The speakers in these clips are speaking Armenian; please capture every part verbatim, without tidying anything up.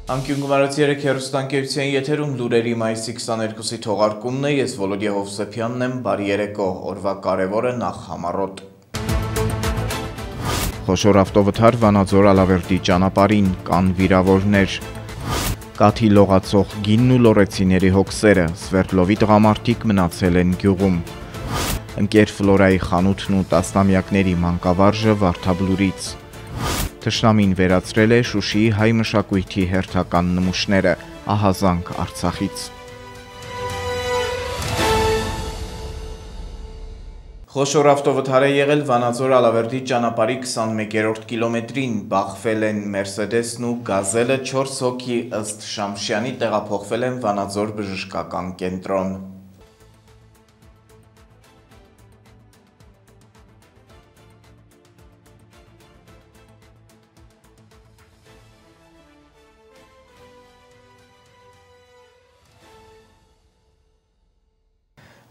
Անկյունգվարած երեք հեռուստաընկերության եթերում լուրերի մայիսի քսաներկուսի թողարկումն է, ես Վոլոդիա Հովսեփյանն եմ, բարի երեկո, օրվա կարևորը նախ համառոտ։ Խոշոր ավտովթար Վանաձոր Ալավերդի ճանապարհին, կան վիրավորներ։ Կաթի լողացող գինն ու լորեցիների հոգսերը, Սվերդլովի տղամարդիկ մնացել են գյուղում։ Ընկեր Ֆլորայի խանութն ու տասնամյակների մանկավարժը Վարդաբլուրից։ Թշնամին վերացրել է Շուշիի հայ մշակույթի հերթական նմուշները, ահազանգ Արցախից։ Խոշոր ավտովթար է եղել Վանաձոր Ալավերդի ճանապարհի քսանմեկերորդ կիլոմետրին, բախվել են Մերսեդեսն ու Գազելը, չորս հոգի ըստ Շամշյանի տեղափոխվել են Վանաձոր բժշկական կենտրոն։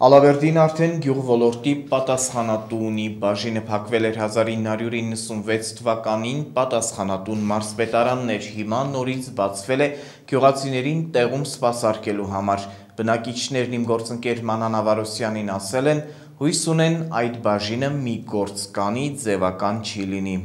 Ալավերդին արդեն գյուղ ոլորտի պատասխանատու ունի, բաժինը փակվել էր հազար ինը հարյուր իննսունվեց թվականին, պատասխանատուն մարզպետարանն էր, հիմա նորից բացվել է գյուղացիներին տեղում սպասարկելու համար։ Բնակիչներն իմ գործընկեր Մանան Ավարոսյանին ասել են, հույս ունեն այդ բաժինը մի գործ կանի, ձևական չի լինի։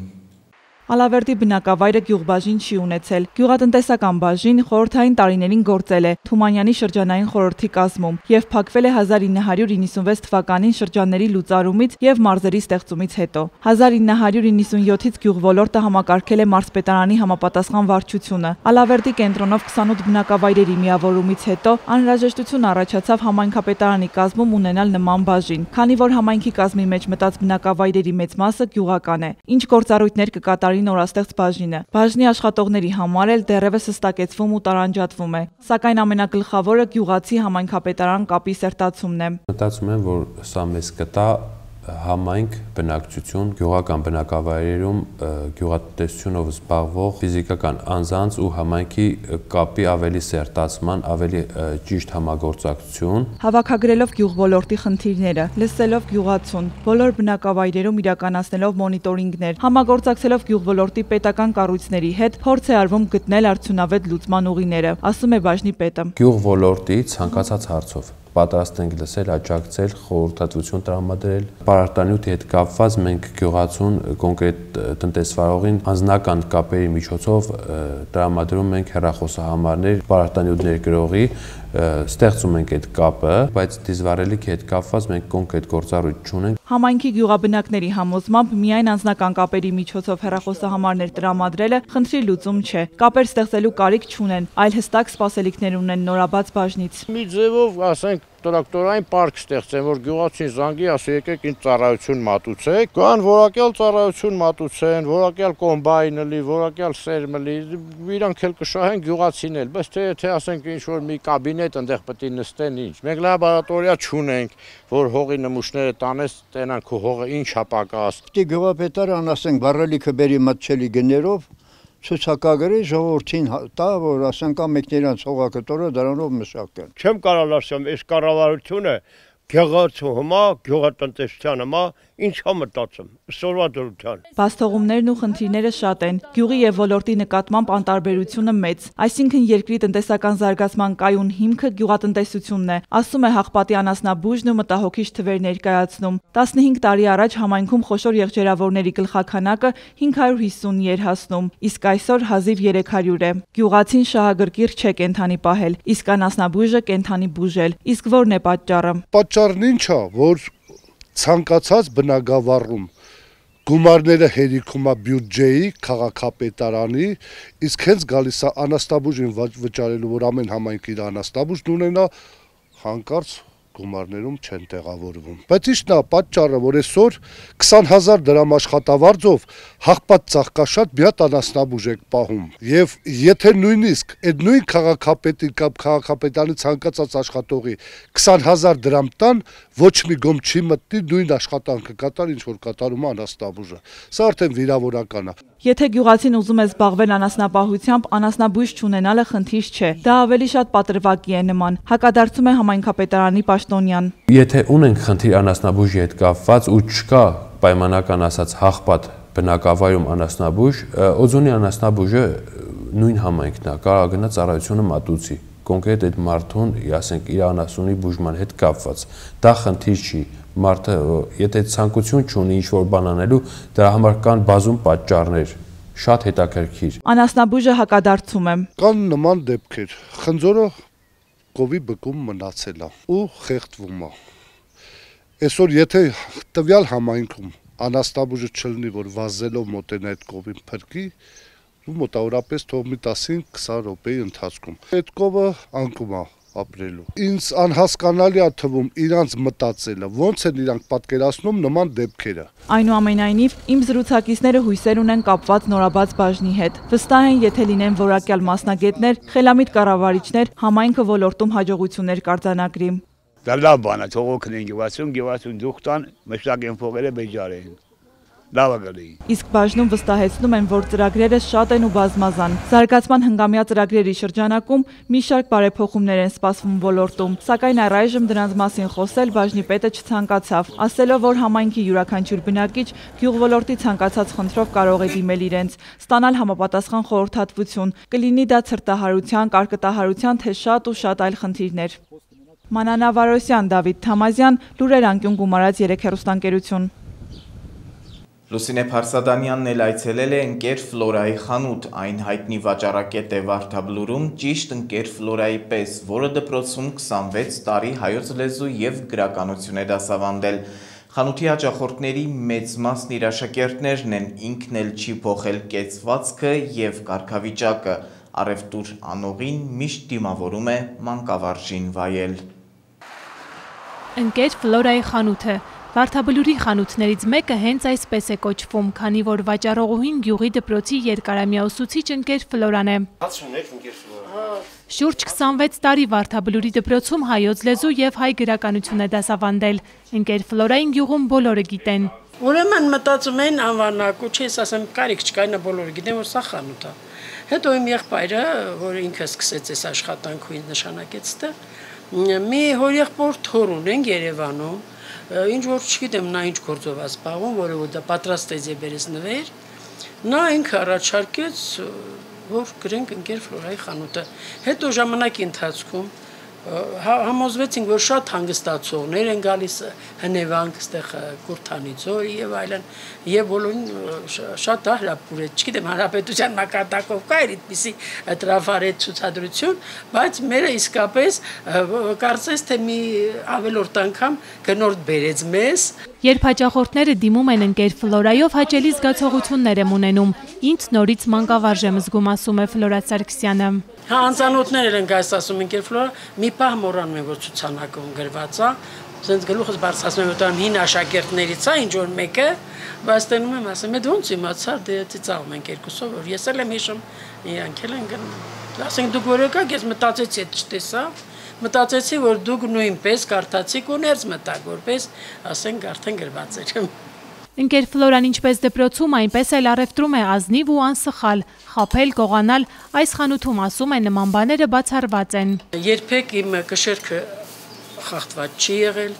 Ալավերդի բնակավայրը գյուղբաժին չի ունեցել։ Գյուղատնտեսական բաժին խորհրդային տարիներին գործել է Թումանյանի շրջանային խորհրդի կազմում եւ փակվել է հազար ինը հարյուր իննսունվեց թվականին շրջանների լուծարումից եւ մարզերի ստեղծումից հետո։ հազար ինը հարյուր իննսունյոթից գյուղոլորտը համակարգել է մարզպետարանի համապատասխան վարչությունը։ Ալավերդի կենտրոնով քսանութ բնակավայրերի միավորումից հետո անհրաժեշտություն առաջացավ համայնքապետարանի կազմում ունենալ նման բաժին, քանի որ համայնքի կազմի մեջ մտած բնակավայրերի մեծ մասը գյուղական է։ Ինչ գործառույթներ կկատարի նորաստեղծ բաժինը։ Բաժնի աշխատողների համար էլ դեռևս հստակեցվում ու տարանջատվում է, սակայն ամենագլխավորը գյուղացի համայնքապետարան կապի սերտացումն է։ Մտածում եմ, որ սա մեզ կտա համայնք բնակչություն, գյուղական բնակավայրերում գյուղատնտեսությունով զբաղվող ֆիզիկական անձանց ու համայնքի կապի ավելի սերտացման, ավելի ճիշտ համագործակցություն։ Հավաքագրելով գյուղ ոլորտի խնդիրները, լսելով գյուղացուն, բոլոր բնակավայրերում իրականացնելով մոնիտորինգներ, համագործակցելով գյուղ ոլորտի պետական կառույցների հետ, փորձ է արվում գտնել արդյունավետ լուծման ուղիները, ասում է բաժնի պետը։ Գյուղ ոլորտի ցանկացած հարցով պատրաստ ենք լսել, աջակցել, խորհրդատվություն տրամադրել։ Պարարտանյութի հետ կապված մենք գյուղացուն կոնկրետ տնտեսվարողին անձնական կապերի միջոցով տրամադրում ենք հեռախոսահամարներ, պարարտանյութ ներգրողի, ստեղծում ենք այդ կապը, բայց դիզվառելիքի հետ կապված մենք կոնկրետ գործառույթ չունենք։ Համայնքի գյուղաբնակների համոզմամբ միայն անձնական կապերի միջոցով հեռախոսահամարներ տրամադրելը խնդրի լուծում չէ։ Կապեր ստեղծելու կարիք չունեն, այլ հստակ սպասելիքներ ունեն նորաբաց բաժնից։ Մի ձևով, ասենք, տրակտորային պարկ ստեղծեն, որ գյուղացին զանգի, ասի եկեք ինձ ծառայություն մատուցեք, կան որակյալ ծառայություն մատուցեն, որակյալ կոմբայնը լի, որակյալ սերմը լի, իրանք էլ կշահեն գյուղացին էլ, բայց թե եթե ասենք ինչ որ մի կաբինետ ընդեղ պետք է նստեն ինչ։ Մենք լաբորատորիա չունենք, որ հողի նմուշները տանես, տենան քո հողը ինչ է պակաս։ Պետք է գյուղապետարան, ասենք, վառելիքը բերի մատչելի գներով ցուցակագրի ժողովրդին տա, որ ասենք ամենքներանց հողակտորը դրանով մշակեն։ Չեմ կարող ասեմ, այս կառավարությունը գյուղացու հիմա, գյուղատնտեսության հիմա ինչ է մտածում, սորվա դրության։ Բաստողումներն ու խնդիրները շատ են, գյուղի եւ ոլորտի նկատմամբ անտարբերությունը մեծ, այսինքն երկրի տնտեսական զարգացման կայուն հիմքը գյուղատնտեսությունն է, ասում է Հաղպատի անասնաբուժն ու մտահոգիչ թվեր ներկայացնում։ տասնհինգ տարի առաջ համայնքում խոշոր եղջերավորների գլխաքանակը հինգ հարյուր հիսուն էր հասնում, իսկ այսօր հազիվ երեք հարյուր է։ Գյուղացին շահագրգիռ չէ կենթանի պահել, իսկ անասնաբույժը կենթանի բուժել, իսկ որն է պատճառը։ Պատճառն ինչ է, որ ցանկացած բնակավարում գումարները հերիքում է բյուջեի, քաղաքապետարանի, իսկ հենց գալիս է անաստաբուժին վճարելու, որ ամեն համայնք իր անաստաբուժն ունենա, հանկարծ գումարներում չեն տեղավորվում։ Բայց ի՞նչն է պատճառը, որ այսօր քսան հազար դրամ աշխատավարձով Հաղպատ ծաղկաշատ մի հատ անասնաբուժ եք պահում։ Եվ եթե նույնիսկ այդ նույն քաղաքապետի կամ քաղաքապետանի ցանկացած աշխատողի քսան հազար դրամ տան, ոչ մի գոմ չի մտնի նույն աշխատանքը կատար, ինչ որ կատարում է անասնաբուժը։ Սա արդեն վիրավորական է։ Եթե գյուղացին ուզում է զբաղվել անասնապահությամբ, անասնաբույժ չունենալը խնդիր չէ։ Դա ավելի շատ պատրվակի է նման, հակադարձում է համայնքապետարանի պաշտոնյան։ Եթե ունենք խնդիր անասնաբույժի հետ կապված ու չկա պայմանական ասած Հաղպատ բնակավայրում անասնաբույժ, Օձոնի անասնաբույժը նույն համայնքն է, կարող գնա ծառայությունը մատուցի, կոնկրետ այդ մարդուն, ասենք, իր անասունի բուժման հետ կապված։ Դա խնդիր չի, մարդը, եթե ցանկություն չունի ինչ-որ բան անելու, դրա համար կան բազում պատճառներ, շատ հետաքրքիր։ Անասնաբույժը հակադարձում է։ Կան նման դեպքեր, խնձորը կովի բկում մնացել է ու խեղդվում է։ Այսօր եթե տվյալ համայնքում անասնաբույժը չլինի, որ վազելով մոտենա այդ կովին փրկի, ու մոտավորապես թող մի տասին քսան րոպեի ընթացքում։ Այդ կովը անկում է ապրելու։ Ինձ անհասկանալի է թվում իրանց մտածելը, ոնց են իրանք պատկերացնում նման դեպքերը։ Այնուամենայնիվ, իմ զրուցակիցները հույսեր ունեն կապված նորաբաց բաժնի հետ։ Վստահ են, եթե լինեն որակյալ մասնագետներ, խելամիտ կառավարիչներ, համայնքը ոլորտում հաջողություններ կարձանագրի։ Դա լավ բան է, թող օգնեն գյուղացուն, գյուղացուն դուք տան, մշտական փողերը բեջարեն։ Լավ է գալի։ Իսկ բաժնում վստահեցնում են, որ ծրագրերը շատ են ու բազմազան։ Զարգացման հնգամյա ծրագրերի շրջանակում մի շարք բարեփոխումներ են սպասվում ոլորտում, սակայն առայժմ դրանց մասին խոսել բաժնի պետը չցանկացավ, ասելով, որ համայնքի յուրաքանչյուր բնակիչ գյուղոլորտի ցանկացած խնդրով կարող է դիմել իրենց, ստանալ համապատասխան խորհրդատվություն, կլինի դա ցրտահարության, կարկտահարության, թե շատ ու շատ այլ խնդիրներ։ Մանանա Վարոսյան, Դավիթ Թամազյան, լուրեր անկյուն գումարած երեք հեռուստաընկերություն։ Լուսինե Փարսադանյանն էլ այցելել է ընկեր Ֆլորայի խանութ, այն հայտնի վաճառակետ է Վարդաբլուրում, ճիշտ ընկեր Ֆլորայի պես, որը դպրոցում քսանվեց տարի հայոց լեզու և գրականություն է դասավանդել։ Խանութի հաճախորդների մեծ մասն իր աշակերտներն են, ինքն էլ չի փոխել կեցվածքը և կարգավիճակը, առևտուր անողին միշտ դիմավորում է մանկավարժին վայել։ Ընկեր Ֆլորայի խանութը Վարդաբլուրի խանութներից մեկը հենց այսպես է կոչվում, քանի որ վաճառողուհին գյուղի դպրոցի երկարամյա ուսուցիչ ընկեր Ֆլորան է։ Շուրջ քսանվեց տարի Վարդաբլուրի դպրոցում հայոց լեզու և հայ գրականություն է դասավանդել։ Ընկեր Ֆլորային գյուղում բոլորը գիտեն։ Ուրեմն մտածում են անվանակու, չես ասեմ, կարիք չկա, նա բոլորը գիտեն, որ սա խանութ է։ Հետո իմ եղբայրը, որ ինքը սկսեց այս աշխատանքը ինձ նշանակեց դա, մի հորեղբոր թոր ունենք Երևանում, ինչ որ չգիտեմ նա ինչ գործով է զբաղվում, որը որ դա պատրաստեց եւ բերեց նվեր, նա ինքը առաջարկեց, որ գրենք ընկեր Ֆլորայի խանութը։ Հետո ժամանակի ընթացքում համոզվեցինք, որ շատ հանգստացողներ են գալիս հնևանք, այդտեղ Կուրթանի ձորի եւ այլն, եւ բոլորին շատ հրապուրեց, չգիտեմ հանրապետության մակարդակով կա այդպիսի տրաֆարետ ցուցադրություն, բայց մերը իսկապես կարծես թե մի ավելորդ անգամ գնորդ բերեց մեզ։ Երբ հաճախորդները դիմում են ընկեր Ֆլորայով, հաճելի զգացողություններ եմ ունենում, ինձ նորից մանկավարժ եմ զգում, ասում է Ֆլորա Սարգսյանը։ Հա, անծանոթներ են գայս ասում ընկեր Ֆլորա, մի պահ մոռանում են, որ ցուցանակում գրված է, ասենց գլուխս բարձրացնում եմ, որ հին աշակերտներից է, ինչ որ մեկը, բայց տենում եմ, ասում եմ, ոնց իմացար, դե ծիծաղում ենք երկուսով, որ ես էլ եմ հիշում, իրանք էլ են գնում։ Ասենք դուք որ եկաք, ես մտածեցի, այդ չտեսա, մտածեցի, որ դուք նույնպես կարդացիք ու ներս մտաք, որպես, ասենք, արդեն գրված էր։ Ընկեր Ֆլորան ինչպես դպրոցում, այնպես էլ առևտրում է ազնիվ ու անսխալ, խաբել, գողանալ, այս խանութում ասում է նման բաները բացառված են։ Երբեք իմ կշերքը խախտված չի եղել,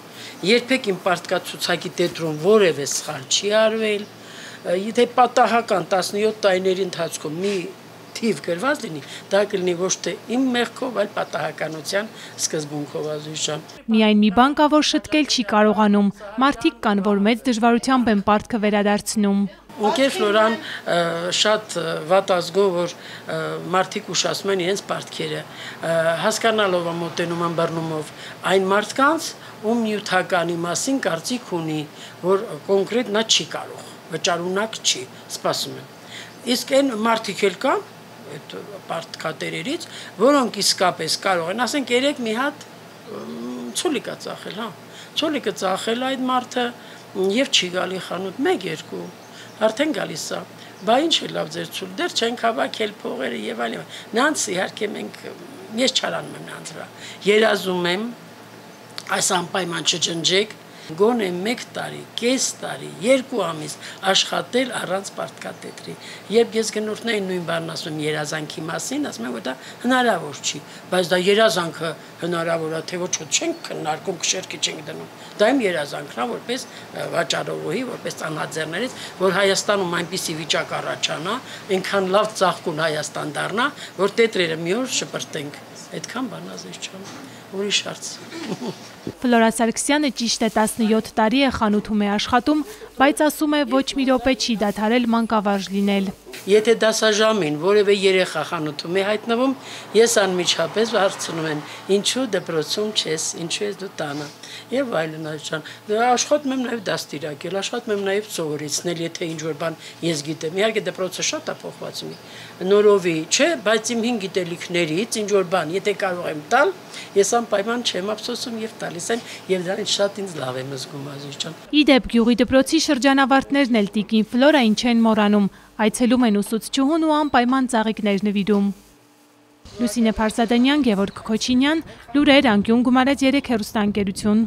երբեք իմ պարտկացուցակի տետրում որևէ սխալ չի արվել, եթե պատահական տասնյոթ տարիների ընթացքում մի թիվ գրված լինի, դա կլինի ոչ թե իմ մեղքով, այլ պատահականության սկզբունքով ազույժան։ Միայն մի բան կա, որ շտկել չի կարողանում, մարդիկ կան, որ մեծ դժվարությամբ են պարտքը վերադարձնում։ Ընկեր Ֆլորան շատ վատ ազգով, որ մարդիկ ուշացնում են իրենց պարտքերը, հասկանալով ամոտենում ամբռնումով այն մարդկանց, ում նյութականի մասին կարծիք ունի, որ կոնկրետ նա չի կարող, վճարունակ չի, սպասում են։ Իսկ այն մարդիկ էլ կան, այդ պարտքատերերից, որոնք իսկապես կարող են, ասենք երեք մի հատ ցոլիկա ծախել, հա, ցոլիկը ծախել այդ մարդը եւ չի գալի խանութ մեկ երկու, արդեն գալիս է, բա ինչ է լավ ձեր ցուլ, դեռ չենք հավաքել փողերը եւ այլն։ Նրանց իհարկե մենք ես չարանում եմ նրանց վրա։ Երազում եմ այս անպայման չջնջեք, գոնե մեկ տարի, կես տարի, երկու ամիս աշխատել առանց պարտքատետրի։ Երբ ես գնորդներին նույն բանն ասում երազանքի մասին, ասում եմ, որ դա հնարավոր չի, բայց դա երազանքը հնարավոր է, թե ոչ չենք քննարկում, քշերքի չենք դնում։ Դա իմ երազանքն է, որպես վաճառողի, որպես ծանոթներից, որ Հայաստանում այնպիսի վիճակ առաջանա, այնքան լավ ծաղկուն Հայաստան դառնա, որ տետրերը մի օր շպրտենք։ Այդքան բան ազես չան, ուրիշ հարց։ Ֆլորա Սարգսյանը ճիշտ է տասնյոթ տարի է խանութում է աշխատում, բայց ասում է ոչ մի րոպե չի դադարել մանկավարժ լինել։ Եթե դասաժամին որևէ երեխա խանութում է հայտնվում, ես անմիջապես հարցնում եմ, ինչու դպրոցում չես, ինչու ես դու տանը։ Եվ այլն այլն։ Աշխատում եմ նաև դաստիարակել, աշխատում եմ նաև սովորեցնել, եթե ինչ-որ բան ես գիտեմ։ Իհարկե դպրոցը շատ է փոխված մի նորովի, չէ, բայց իմ հին գիտելիքներից ինչ-որ բան, եթե կարող եմ տալ, ես անպայման չեմ ափսոսում եւ տալիս եմ, եւ դրանից շատ ինձ լավ եմ զգում, Ազիզ ջան։ Իդեպ գյուղի դպրոցի շրջանավարտներն էլ տիկին Ֆլորային չեն մոռանում, այցելում են ուսուցչուհուն ու անպայման ծաղիկներ նվիրում։ Լուսինե Փարսադանյան, Գևորգ Քոչինյան, Լուրեր, անկյուն գումարեց երեք հեռուստաընկերություն։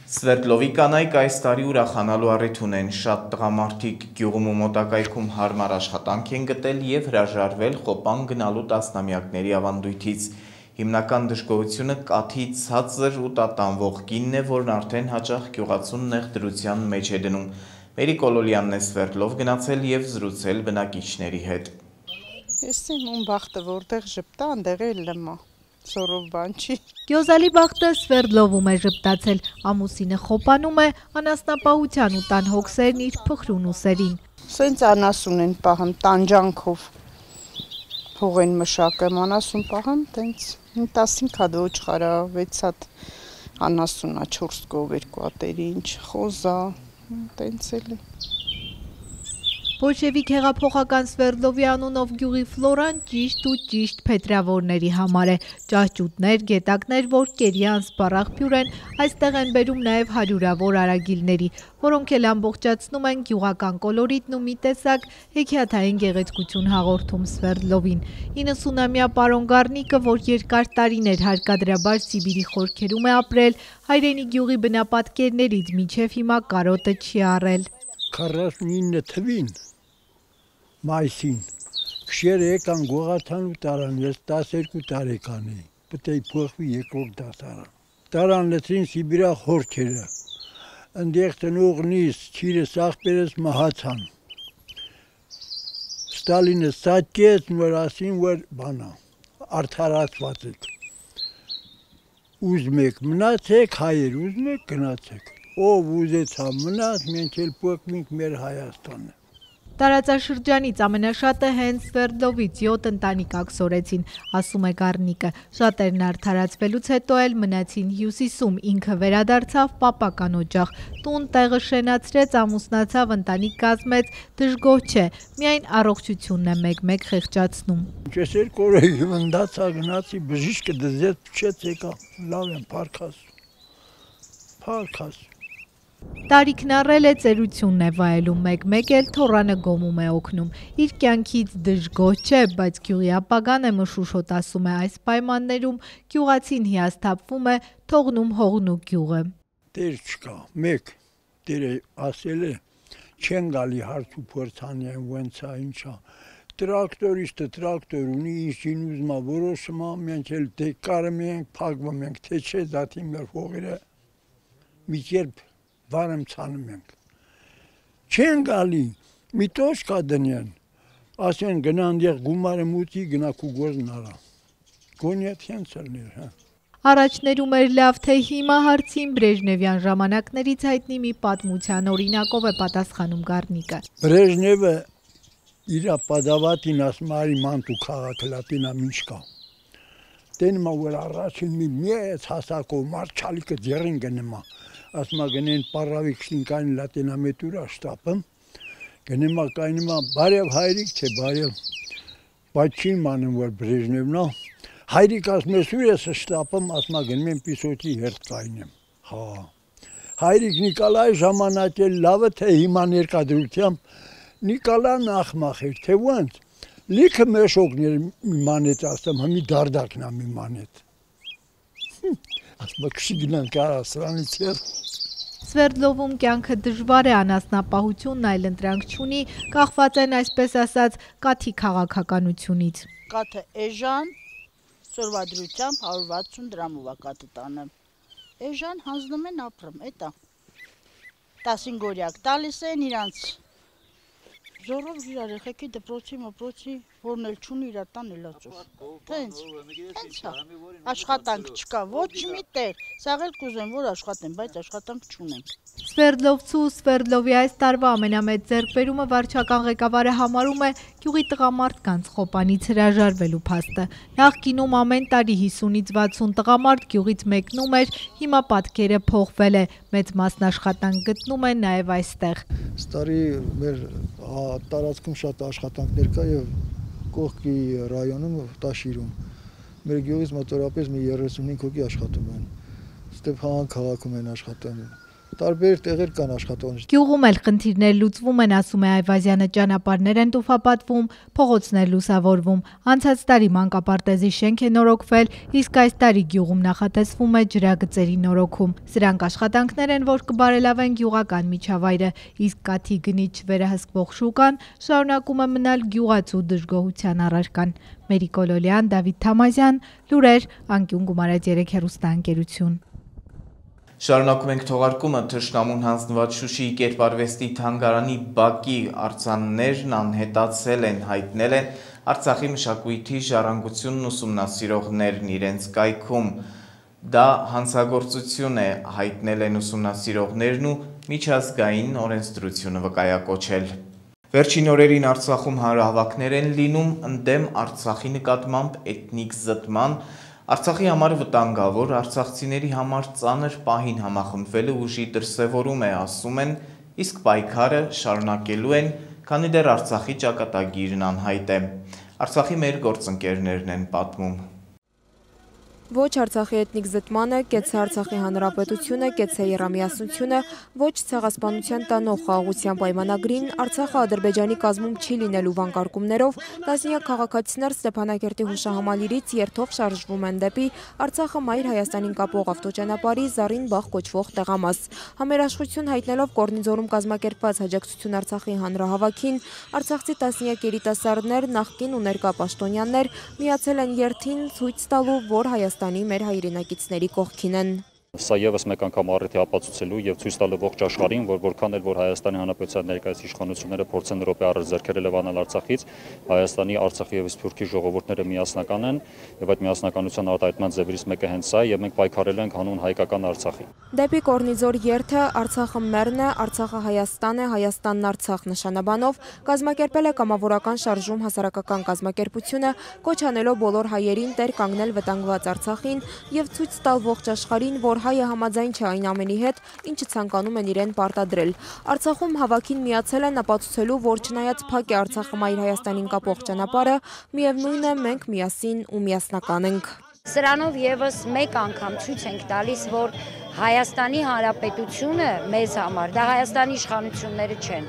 Սվերդլովի կանայք այս տարի ուրախանալու առիթ ունեն, շատ տղամարդիկ գյուղում ու մոտակայքում հարմար աշխատանք են գտել և հրաժարվել խոպան գնալու տասնամյակների ավանդույթից։ Հիմնական դժգոհությունը կաթի ցածր ու տատանվող կինն է, որն արդեն հաճախ գյուղացուն նեղ դրության մեջ է դնում։ Մերի Կոլոլյանն է Սվերդլով գնացել և զրուցել բնակիչների հետ։ Ես իմ բախտը որտեղ ժպտա, այնտեղ էլ լմա, սորով բան չի։ Գյոզալի բախտը Սվերդլովում է ժպտացել, ամուսինը խոպանում է, անասնապահության ու տան հոգսերն իր փխրուն ուսերին։ Սենց անասուն են պահում, տանջանքով, հող են մշակում, անասուն պահում, տենց տասինք հատ ոչխարա, վեց հատ անասունա, չորս կով երկու հատերի, ինչ խոզա, տենց էլ է։ Բոլշևիկ հեղափոխական Սվերդլովի անունով գյուղի Ֆլորան ճիշտ ու ճիշտ փետրավորների համար է։ Ճահճուտներ, գետակներ, որ կերի անսպառ են, այստեղ են բերում նաև հարյուրավոր արագիլների, որոնք էլ ամբողջացնում են գյուղական կոլորիտն ու մի տեսակ հեքիաթային գեղեցկություն հաղորդում Սվերդլովին։ իննսունամյա պարոն Գառնիկը, որ երկար տարիներ հարկադրաբար Սիբիրի խորքերում է ապրել, հայրենի գյուղի բնապատկերներից մինչև հիմա կարոտը չի առել։ քառասունինը թվին մայիսին քշերը եկան գողաթան ու տարան, ես տասներկու տարեկան էի, պետք է փոխվի երկրորդ դասարան։ Տարան լեցին Սիբիրա խորքերը, ընդեղ տնողնից, չիրս աղբերս մահացան։ Ստալինը սատկեց, որ ասին, որ բանա, արդարացված եք։ Ուզում եք մնացեք հայեր, ուզում եք գնացեք։ Ով ուզեցա մնաց, մենք էլ փոխվենք մեր Հայաստանը։ Տարածաշրջանից ամենաշատը հենց Սվերդլովից յոթ ընտանիք ակսորեցին, ասում է Գառնիկը։ Շատերն արդարացվելուց հետո էլ մնացին Հյուսիսում, ինքը վերադարձավ պապական օջախ, տուն տեղը շենացրեց, ամուսնացավ, ընտանիք կազմեց, դժգոհ չէ, միայն առողջությունն է մեկ-մեկ խեղճացնում։ Ես երկու օր հիվանդացա, գնացի բժիշկը դզեց, փչեց եկա, լավ եմ, փառքաս։ Փառքաս։ Տարիքն առել է ծերությունն է վայելում, մեկ-մեկ էլ թոռանը գոմում է օգնում։ Իր կյանքից դժգոհ չէ, բայց գյուղի ապագան է մշուշոտ, ասում է, այս պայմաններում գյուղացին հիասթափվում է, թողնում հողն ու գյուղը։ Տեր չկա, մեկ, Տերը ասել է, չեն գալի հարց ու փորձանյան ոնց է, ինչա։ Տրակտորիստը տրակտոր ունի, ինչին ուզում է որոշում է, մենք էլ թե կարում ենք, փակվում ենք, թե չէ, դատի մեր հողերը մի կերպ վարեմ ցանում ենք։ Չեն գալի, մի տոշկա դնեն, ասեն գնան դեղ գումարը մուտի, գնա քու գործն արա։ Գոնյա թենց ելներ, հա։ Առաջներում էր լավ, թե հիմա հարցին Բրեժնևյան ժամանակներից հայտնի մի պատմության օրինակով է պատասխանում Գառնիկը։ Բրեժնևը իր պատավատին ասում արի մանտու քաղաքը լատինա ինչ կա։ Տենմա որ առաջին մի մեծ հասակով մարդ չալիկը ձեռին գնեմա։ Ասում է գնեն պարավի քշինքային լատինամետուրա շտապը, գնեմա կայնիմա բարև հայրիկ չէ բարև, բայց չի մանում որ Բրեժնևն է, հայրիկ ասում է սուր ես շտապում, ասում է գնում եմ պիսոթի հերթ կայնեմ, հա, հայրիկ Նիկոլայ ժամանակ էլ լավը թե հիմա ներկադրությամբ, Նիկոլան ախմախ էր, թե ոնց, լիքը մեշոկներ մի մանետ ասեմ, հմի դարդակն է մի մանետ, ասում քշի գնան կարա սրանից եր։ Սվերդլովում կյանքը դժվար է, անասնապահությունն այլ ընտրանք չունի, կախված են այսպես ասած կաթի քաղաքականությունից։ Կաթը էժան, սորվադրությամբ հարյուր վաթսուն դրամով է կաթը տանը։ Էժան հանձնում են ապրում, էտա։ տասին գորյակ տալիս են իրանց զորով իրար եղեքի դպրոցի մպրոցի, որն էլ չունի իրար տան էլացով։ Տենց, տենց է, աշխատանք չկա, ոչ մի տեղ, սաղել կուզեմ, որ աշխատեմ, բայց աշխատանք չունենք։ Սվերդլովցու ու Սվերդլովի այս տարվա ամենամեծ ձեռքբերումը վարչական ղեկավարը համարում է գյուղի տղամարդկանց խոպանից հրաժարվելու փաստը։ Նախկինում ամեն տարի հիսունից վաթսուն տղամարդ գյուղից մեկնում էր, հիմա պատկերը փոխվել է, մեծ մասն աշխատանք գտնում են նաև այստեղ։ Ստարի մեր տարածքում շատ աշխատանքներ կա եւ կողքի ռայոնում Տաշիրում։ Մեր գյուղից մոտավորապես մի երեսունհինգ հոգի աշխատում են։ Ստեփան քաղաքում են աշխատում։ Տարբեր տեղեր կան աշխատողներ։ Գյուղում էլ խնդիրներ լուծվում են, ասում է Այվազյանը, ճանապարհներ են տուֆապատվում, փողոցներ լուսավորվում։ Անցած տարի մանկապարտեզի շենք է նորոգվել, իսկ այս տարի գյուղում նախատեսվում է ջրագծերի նորոգում։ Սրանք աշխատանքներ են, որ կբարելավեն գյուղական միջավայրը, իսկ կաթի գնից վերահսկվող շուկան շարունակում է մնալ գյուղացու դժգոհության առարկան։ Մերի Կոլոլյան, Դավիթ Թամազյան, լուրեր, անկյուն Գումարած երեք հեռուստաընկերություն։ Շարունակում ենք թողարկումը թշնամուն հանձնված Շուշիի կերպարվեստի թանգարանի բակի արձաններն անհետացել են, հայտնել են Արցախի մշակույթի ժառանգությունն ուսումնասիրողներն իրենց կայքում։ Դա հանցագործություն է, հայտնել են ուսումնասիրողներն ու միջազգային օրենսդրությունը վկայակոչել։ Վերջին օրերին Արցախում հանրահավաքներ են լինում ընդդեմ Արցախի նկատմամբ էթնիկ զտման, Արցախի համար վտանգավոր, արցախցիների համար ծանր պահին համախմբվելը ուժի դրսևորում է, ասում են, իսկ պայքարը շարունակելու են, քանի դեռ Արցախի ճակատագիրն անհայտ է։ Արցախի մեր գործընկերներն են պատմում։ Ոչ Արցախի էթնիկ զտմանը, կեցցե Արցախի հանրապետությունը, կեցցե եռամիասնությունը, ոչ ցեղասպանության տանող խաղաղության պայմանագրին, Արցախը Ադրբեջանի կազմում չի լինելու վանկարկումներով, տասնյակ քաղաքացիներ Ստեփանակերտի հուշահամալիրից երթով շարժվում են դեպի Արցախը մայր Հայաստանին կապող ավտոճանապարհի Զարին Բաղ կոչվող տեղամաս։ Համերաշխություն հայտնելով Կորնիձորում կազմակերպված հաջակցություն Արցախի հանրահավաքին, արցախցի տասնյակ երիտասարդներ, նախկին ու ներկա պաշտոնյաներ միացել են երթին ցույց տալու, որ Հայաստանի մեր հայրենակիցների կողքին են։ Սա եւս մեկ անգամ առիթ է ապացուցելու եւ ցույց տալու ողջ աշխարհին, որ որքան էլ որ Հայաստանի Հանրապետության ներկայիս իշխանությունները փորձեն րոպե առ ձեռքերը լվանալ Արցախից, Հայաստանի, Արցախի եւ Սփյուռքի ժողովուրդները միասնական են եւ այդ միասնականության արտահայտման ձևերից մեկը հենց սա է եւ մենք պայքարելու ենք հանուն հայկական Արցախի։ Դեպի Կորնիձոր երթը Արցախը մերն է, Արցախը Հայաստան է, Հայաստանն Արցախ նշանաբանով կազմակերպել է կամավորական շարժում հասարակական կազմակերպությունը, կոչ անելով բոլոր հայերին տեր կանգնել վտանգված Արցախին եւ ցույց տալ ողջ աշխարհին, որ հայը համաձայն չէ այն ամենի հետ, ինչը ցանկանում են իրեն պարտադրել։ Արցախում հավաքին միացել են ապացուցելու, որ չնայած փակ է Արցախը մայր Հայաստանին կապող ճանապարհը, միևնույն է մենք միասին ու միասնական ենք։ Սրանով եւս մեկ անգամ ցույց ենք տալիս, որ Հայաստանի Հանրապետությունը մեզ համար, դա Հայաստանի իշխանությունները չեն,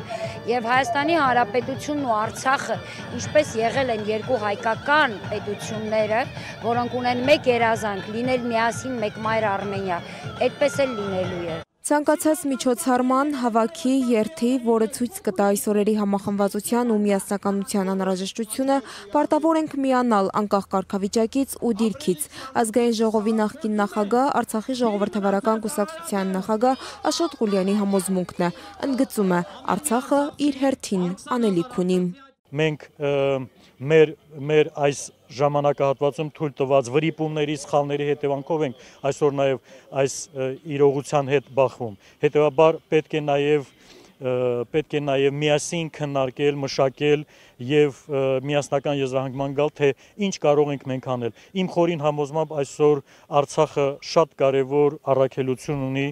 եւ Հայաստանի Հանրապետությունն ու Արցախը, ինչպես եղել են երկու հայկական պետությունները, որոնք ունեն մեկ երազանք՝ լինել միասին մեկ մայր Արմենիա, այդպես էլ լինելու է։ Ցանկացած միջոցառման, հավաքի, երթի, որը ցույց կտա այս օրերի համախմբվածության ու միասնականության անհրաժեշտությունը, պարտավոր ենք միանալ անկախ կարգավիճակից ու դիրքից։ Ազգային ժողովի նախկին նախագահ, Արցախի ժողովրդավարական կուսակցության նախագահ Աշոտ Ղուլյանի համոզմունքն է, ընդգծում է Արցախը իր հերթին անելիք ունի։ Մենք մեր մեր այս ժամանակահատվածում թույլ տված վրիպումների, սխալների հետևանքով ենք այսօր նաև այս իրողության հետ բախվում։ Հետևաբար պետք է նաև պետք է նաև միասին քննարկել, մշակել եւ միասնական եզրահանգման գալ, թե ինչ կարող ենք մենք անել։ Իմ խորին համոզմամբ այսօր Արցախը շատ կարևոր առաքելություն ունի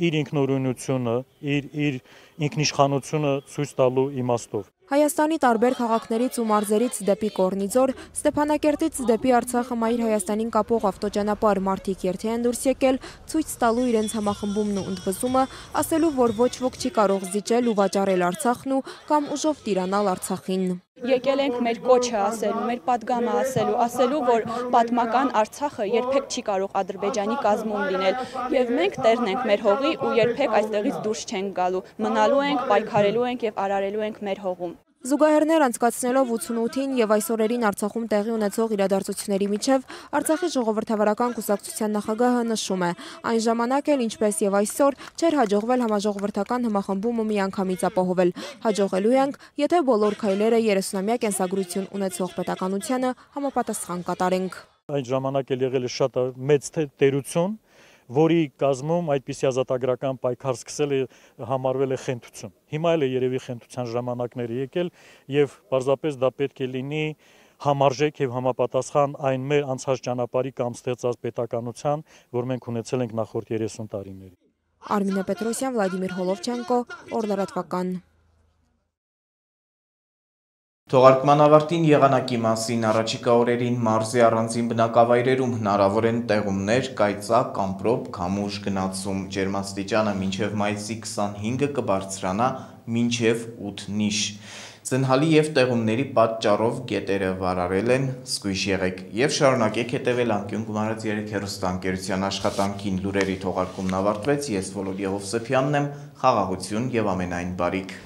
իր ինքնուրույնությունը, իր իր ինքնիշխանությունը ցույց տալու իմաստով։ Հայաստանի տարբեր քաղաքներից ու մարզերից դեպի Կորնիձոր, Ստեփանակերտից դեպի Արցախը մայր Հայաստանին կապող ավտոճանապարհ մարդիկ երթի են դուրս եկել, ցույց տալու իրենց համախմբումն ու ընդվզումը, ասելու, որ ոչ ոք չի կարող զիջել ու վաճառել Արցախն ու կամ ուժով տիրանալ Արցախին։ Եկել ենք մեր կոչը ասելու, մեր պատգամը ասելու, ասելու, որ պատմական Արցախը երբեք չի կարող Ադրբեջանի կազմում լինել, եւ մենք տերն ենք մեր հողի ու երբեք այստեղից դուրս չենք գալու, մնալու ենք, պայքարելու ենք եւ արարելու ենք մեր հողում։ Զուգահեռներ անցկացնելով ութսունութին եւ այս օրերին Արցախում տեղի ունեցող իրադարձությունների միջև Արցախի ժողովրդավարական կուսակցության նախագահը նշում է, այն ժամանակ էլ ինչպես եւ այսօր չէր հաջողվել համաժողովրդական համախմբումը միանգամից ապահովել։ Հաջողելու ենք, եթե բոլոր քայլերը երեսունամյա կենսագրություն ունեցող պետականությանը համապատասխան կատարենք։ Այն ժամանակ էլ եղել է շատ մեծ տերություն, որի կազմում այդպիսի ազատագրական պայքար սկսել է համարվել է խենթություն։ Հիմա էլ է երևի խենթության ժամանակները եկել եւ պարզապես դա պետք է լինի համարժեք եւ համապատասխան այն մեր անցած ճանապարհի կամ ստեղծած պետականության, որ մենք ունեցել ենք նախորդ երեսուն տարիներին։ Արմինե Պետրոսյան, Վլադիմիր Հոլովչենկո, Օրլարատվական։ Թողարկման ավարտին եղանակի մասին առաջիկա օրերին մարզի առանձին բնակավայրերում հնարավոր են տեղումներ, կայծակ, ամպրոպ, քամուշ գնացում, ջերմաստիճանը մինչև մայիսի քսանհինգը կբարձրանա մինչև ութ նիշ։ Ձնհալի և տեղումների պատճառով գետերը վարարել են, զգույշ եղեք և շարունակեք հետևել անկյուն գումարած երեք հեռուստաընկերության աշխատանքին։ Լուրերի թողարկումն ավարտվեց, ես Վոլոդիա Հովսեփյանն եմ, խաղաղություն և ամենայն բարիք։